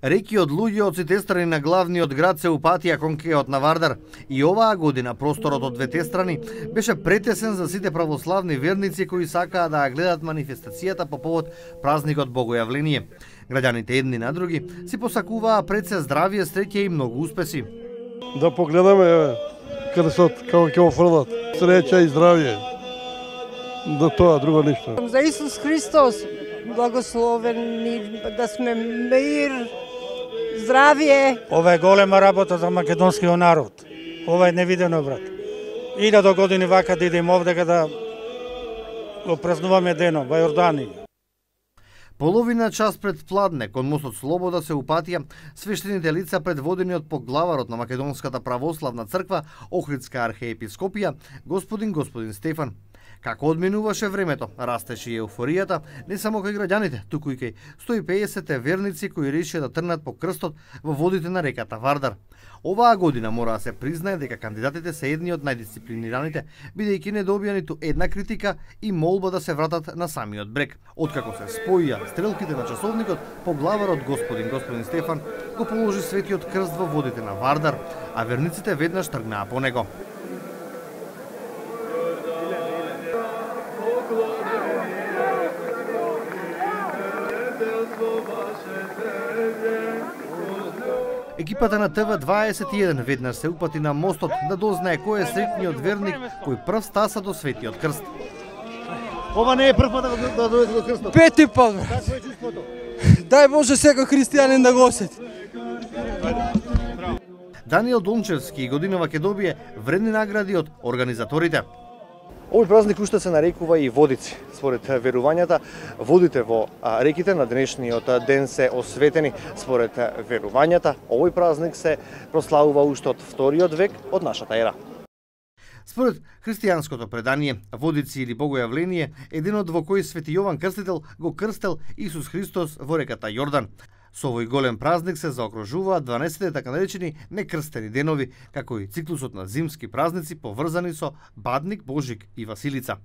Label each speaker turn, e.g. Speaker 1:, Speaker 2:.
Speaker 1: Реки од луѓе од сите страни на главниот град се упатија кон кеот на Вардар и оваа година просторот од двете страни беше претесен за сите православни верници кои сакаа да гледат манифестацијата по повод празникот Богојавление. Граѓаните едни на други си посакуваа пред се здравје, среќа и многу успеси.
Speaker 2: Да погледаме крстот како ќе го фрлат. Среќа и здравје. Да тоа друго ништо.
Speaker 3: За Исус Христос благословени, да сме мир, здравје.
Speaker 4: Ова е голема работа за македонскиот народ. Ова е невидено, брат. 1000 години вака да идем овде да го празнуваме денот во Јорданија.
Speaker 1: Половина час пред пладне, кон мостот Слобода се упатија свештените лица предводени од поглаварот на Македонската православна црква, Охридска архиепископија, господин Стефан. Како одминуваше времето, растеше и еуфоријата не само кај граѓаните, туку и кај 150 верници кои решија да трнат по крстот во водите на реката Вардар. Оваа година мора да се признае дека кандидатите се едни од најдисциплинираните, бидејќи не добија ниту една критика и молба да се вратат на самиот брег. Откако се споија стрелките на часовникот, поглаварот господин Стефан го положи светиот крст во водите на Вардар, а верниците веднаш тргнаа по него. Екипата на ТВ21 веднаш се упати на мостот да дознае кој е среќниот верник кој прв стаса до светиот крст.
Speaker 5: Ова не е прв пат да дојде до крстот.
Speaker 6: Пети пат.
Speaker 5: Какво е чувството?
Speaker 6: Дај Боже секој христијанин да го осети.
Speaker 1: Даниел Дончевски годинава ќе добие вредни награди од организаторите.
Speaker 5: Овој празник уште се нарекува и водици. Според верувањата, водите во реките на денешниот ден се осветени. Според верувањата, овој празник се прославува уште од 2 век од нашата ера.
Speaker 1: Според христијанското предание, водици или Богојавление е денот во кој Свети Јован Крстител го крстел Исус Христос во реката Јордан. Со овој голем празник се заокружуваат 12 така наречени некрстени денови, како и циклусот на зимски празници поврзани со Бадник, Божик и Василица.